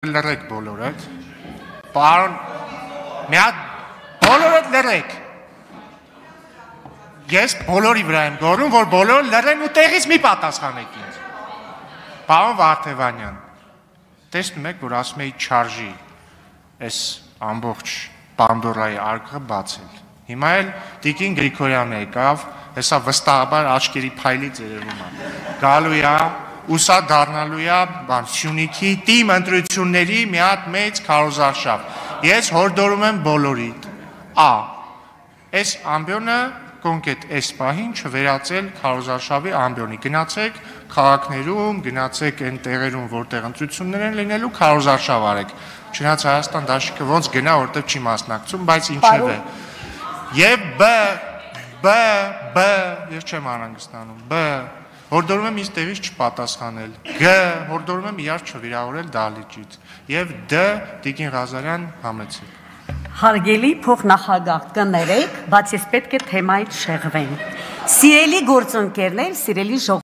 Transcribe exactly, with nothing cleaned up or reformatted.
Լրեք բոլորդ, պարոն, մի հատ բոլորդ լրեք, ես բոլորի վրա եմ գորում, որ բոլոր լրեն ու տեղից մի պատասխանեք ինձ, պարոն Վարդևանյան, տեսնում եք, որ ասում էի չարժի այս ամբողջ Պանդորայի արկղը բացել, հիմա էլ Տիկին Գրիգորյանը եկավ, հեսա վստահաբար աչքերի փայլից երևում է, գալու է, Ուսա դառնալու է Սյունիքի թիմ ընտրությունների մի հատ մեծ քարոզարշավ։ Ես հորդորում եմ բոլորիդ։ Ա. Այս ամբիոնը կոնկրետ այս պահին չվերածել քարոզարշավի ամբիոնի։ Գնացեք քաղաքներում, գնացեք այն տեղերում, որտեղ ընտրություններ են լինելու, քարոզարշավ արեք։ Չնայած Հայաստան դաշինքը ոնց գնա, որտեղ չի մասնակցում, բայց ինչև է։ Եվ բ. բ. բ. Ես չեմ անհանգստանում։ բ. Հորդորում եմ ինձ տեղից չպատասխանել, Գ. Հորդորում եմ իրար չվիրավորել դահլիճից և Դ. Տիկին Ղազարյան համեցեք։ Հարգելի փոխնախագահ կներեք, բայց ես պետք է թեմայից շեղվեմ։ Սիրելի գործընկերներ, սիրելի ժողովուրդ